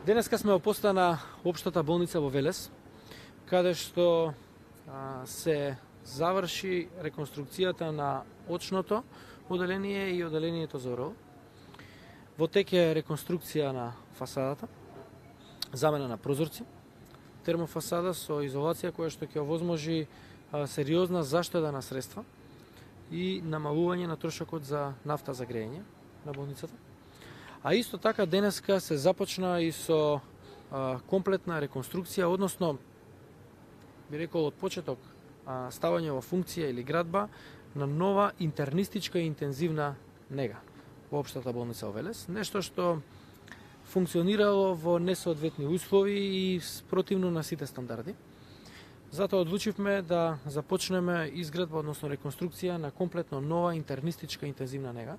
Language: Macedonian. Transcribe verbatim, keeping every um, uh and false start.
Денеска сме во поста на Општата болница во Велес, каде што а, се заврши реконструкцијата на очното оделение и оделението за ОРЛ. Во тек е реконструкција на фасадата, замена на прозорци, термофасада со изолација која што ќе овозможи а, сериозна заштеда на средства и намалување на трошокот за нафта за грејење на болницата. А исто така денеска се започна и со а, комплетна реконструкција, односно би рекол од почеток а, ставање во функција или градба на нова интернистичка и интензивна нега во Општата болница во Велес, нешто што функционирало во несоодветни услови и противно на сите стандарди. Затоа одлучивме да започнеме изградба, односно реконструкција на комплетно нова интернистичка интензивна нега,